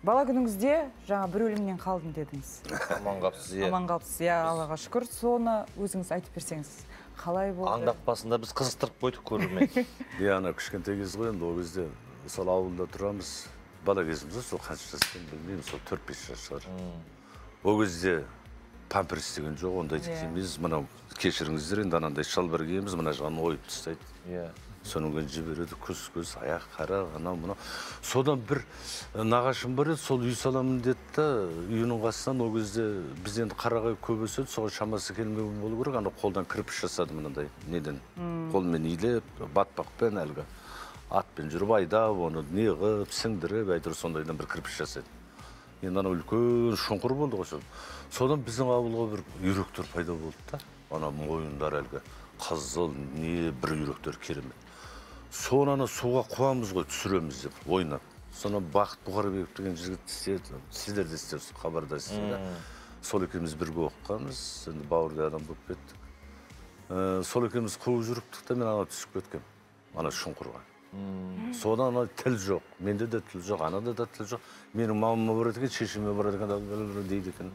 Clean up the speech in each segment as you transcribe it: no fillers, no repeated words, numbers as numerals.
Бала күніңізде жаңа бір өлімнен қалдым дедіңіз. Аман қалыпсыз, иә. Аман қалыпсыз, иә, Аллаға шүкір. Соны өзіңіз айтып берсеңіз, қалай болды? Аңдап басында біз қызықтырып қойдық көрермен. Ана кішкентай кез ғой енді, ол кезде сол ауылда тұрамыз. Бала кезімізде сол қанша жастан білмеймін, сол 4-5 жас шығар. Ол кезде памперс деген жоқ, ондай киеміз. Мынау кешіріңіздер, енді анандай шалбар киеміз, мына жағын ойып тастайды. Иә. Соның жібереді, көз, аяқ, қара, анау, мынау. Содан бір нағашым бар еді, сол үй саламын деді да, үйінің қасынан ол кезде біз енді қарағай көп өседі, соған шамасы келмеген болу керек, ана қолдан кірпіш жасады мынандай неден. Қолмен илеп, батпақпен әлгі атпен жүріп айдап, оны неғып, сіңдіріп, әйтеуір сондайдан бір кірпіш жасайды. Енді ана үлкен шұңқыр болды ғой сол. Содан біздің ауылға бір үйректер пайда болды да. Ана мойындар әлгі қызыл, не бір үйректер керемет. Соны суға қуамыз ғой, түсіреміз деп, ойнап. Соны Бақыт Бұқарбеков деген жігіт істеді, сіздер де істерсіз, хабардасыздар. Сол екеуміз бірге оқығанбыз, енді бауырды адам болып кеттік. Сол екеуміз қуып жүріптік та, мен ана түсіп кеткем, ана шұңқырға. Содан ана тіл жоқ, менде де тіл жоқ, анада да тіл жоқ. Менің мамама барады екен, шешеме барады екен, дейді екен.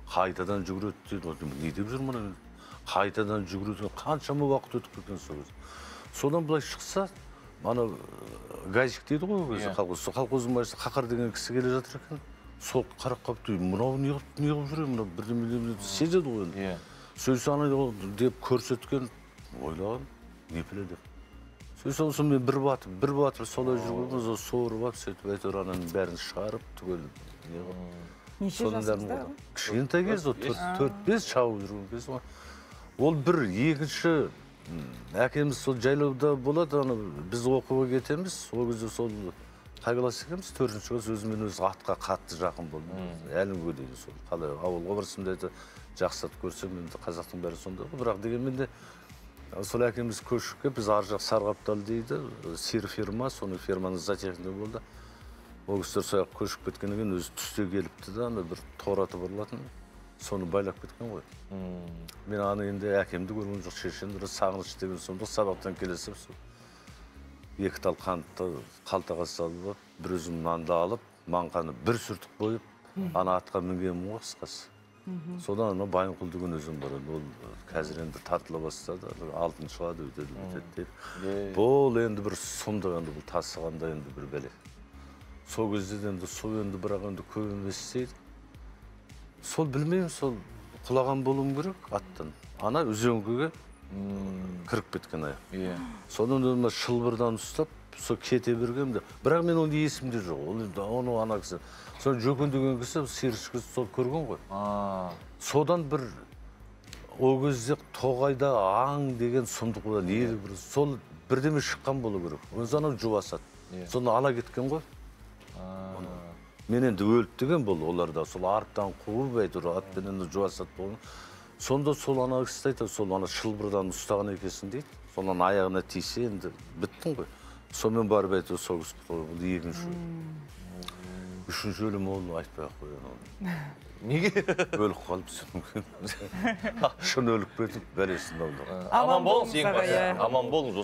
Қайтадан жүгіреді дейді, не деп жүр мұны? Қайтадан жүгіреді, қаншама уақыт өтіп кеткен сол. Содан былай шықса, ана газик дейді ғой, колхоздың басшысы Қақар деген кісі келе жатыр екен. Сол қарап қапты, мынау не қылып жүр, мынау бірдеңе сезеді ғой енді. Сөйтсе ана деп көрсеткен, ойлаған, не біле деп. Сөйтсе мен бір батып солай жүргенбіз, суырып алып, сөйтіп әйтеуір ананың бәрін шығарып, түгел не қылып. Неше жасыңызда? Кішкентай кез, 4-5 шауып жүрген кез. Ол бір екінші әкеміз сол жайлауда болады, біз оқуға кетеміз, ол кезде сол қай класс екенбіз, 4-ші класс, өзімен өзі атқа қатты жақын болды. Әлімге дейін сол, қалай ауылға барсам да жақсат көрсем, енді қазақтың бәрі сонда. Бірақ дегенмен де сол әкеміз көшіп кеп, біз ар жақ Сарғаптал дейді, сиыр ферма, соның ферманың зоотехнигі болды. Ол кісілер сояқ көшіп кеткеннен кейін өзі түсте келіпті да, бір тораты бұрылатын. Соны байлап кеткен ғой. Мен аны енді әкемді көрген жоқ, шешемді сағыныш деген сондық сабақтан келесіп, екі тал қантты қалтаға салып, бір үзім нанды алып, маңқаны бір сүртіп қойып, ана атқа мінгенмін ғой қысқасы. Содан ана Байынқұл деген өзім бар, ол қазір енді тартыла бастады, алтын шығады, өтеді дейді. Бұл енді бір сұмдық, енді бұл тасығанда енді бір бәле. Сол кезде енді су енді бірақ енді көп емес дейді. Сол білмеймін, сол құлаған болуым керек аттан. Ана үзеңгіге кіріп кеткен аяқ. Содан өз шылбырдан ұстап, сол кете бергенде. Бірақ мен оны есімде жоқ. Оны ана кісі. Сол Жөкен деген кісі, сиыршы кісі сол көрген ғой. Содан бір ол кезде тоғайда аң деген сұмдық болады. Сол бірдеме шыққан болу керек. Өзі анау жуасады. Соны ала кеткен ғой. Мен енді өліп деген бол, оларда сол арттан қуып әйтеуір атпенен жуасат болған. Сонда сол ана кісі айтады, сол ана шылбырдан ұстаған екесің дейді. Сонан аяғына тисе енді біттің ғой. Сонымен барып әйтеуір сол кісі бұл екінші өлім. Үшінші өлім оны айтпай-ақ қойған. Неге? Өліп қалып, шын өліп кетіп, бәресін алды. Аман болыңыз, ең басы. Аман болыңыз.